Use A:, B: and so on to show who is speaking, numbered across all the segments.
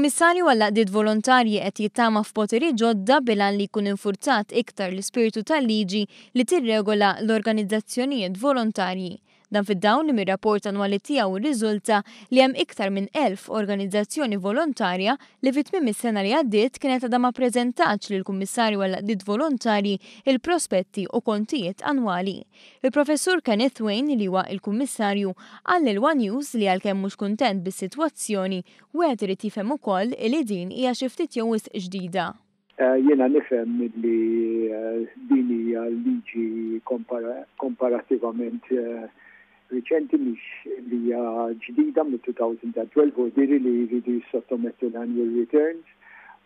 A: Il-Kummissarju għall-Għaqdiet Volontarji qed jittama f'poteri ġodda bil-għan li jkun infurzat iktar l-ispirtu tal-liġi li tirregola l-organizzazzjonijiet volontarji. Dan fid-dawl li mir-rapport annwali tiegħu rriżulta li hemm iktar minn 1,000 organizzazzjoni volontarja li fi tmiem is-sena li għaddiet kienet għadha ma ppreżentatx lill-Kummissarju għall-Għaqdiet Volontarji il-prospetti u kontijiet annwali. Il-Professur Kenneth Wain li huwa il-Kummissarju qal lil one News li għalkemm mhux kuntent bis-sitwazzjoni, wieħed irid jifhem ukoll li din hija xi ftit jew wisq ġdida.
B: Jiena nifhem li din hija liġi komparattivament riċenti mhix li hija ġdida mit-2012 u diri li jridu jissottomettu l-annual returns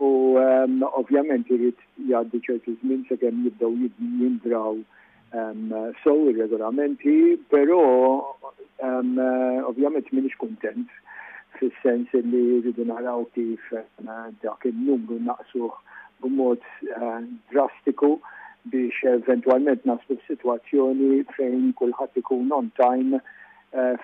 B: u ovvjament irid jgħaddi ċertu żmien sakemm jibdew jindraw sew ir-regolamenti, però ovvjament m'iniex kuntent fis-sens li rridu naraw kif dak il-numru naqsuh b'mod drastiku biex eventwalment naslu f'sitwazzjoni fejn kulħadd ikun on time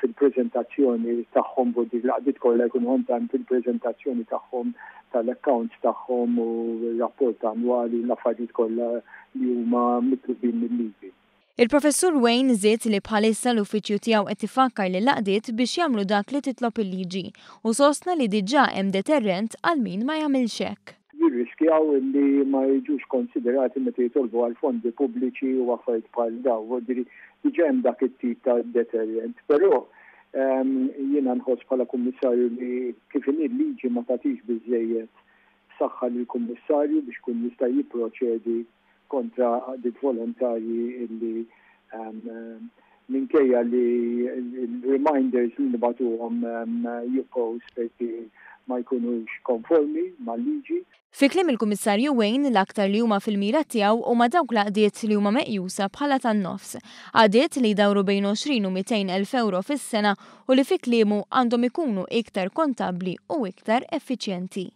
B: fil-preżentazzjoni tagħhom dik l-għaqdiet kollha jkunu on time fil-preżentazzjoni tagħhom tal-accounts tagħhom u r-rapport annwali u l-affarijiet kollha li huma mitlubin mil-liġi.
A: Il-Professur Wain żied li bħalissa l-uffiċċju tiegħu qed ifakkar lill-għaqdiet biex jagħmlu dak li titlob il-liġi u sostna li diġà hemm deterrent għal min ma jagħmilx hekk.
B: Jirriskjaw li ma jiġux konsiderati meta jitolbu għal fondi pubbliċi u affarijiet bħal dawn. Vuol diġà hemm dak it-tip ta' deterrent. Però jiena nħoss bħala kummissarju li kif inhi l-liġi ma tagħtix biżejjed saħħa lill-kummissarju biex kun jista' jipproċedi kontra għaqdiet volontarji illi minkejja li l-reminders li nibagħtuhom jibqgħu esperti ma jkunux konformi mal-liġi.
A: Fi kliem il-Kummissarju Wain, l-aktar li huma fil-mira tiegħu huma dawk l-għaqdiet li huma meqjusa bħala tan-nofs. Għaqdiet li jdawru bejn 20 u 200 elf ewro fis-sena u li fi kliemu għandhom ikunu iktar kontabbli u iktar effiċjenti.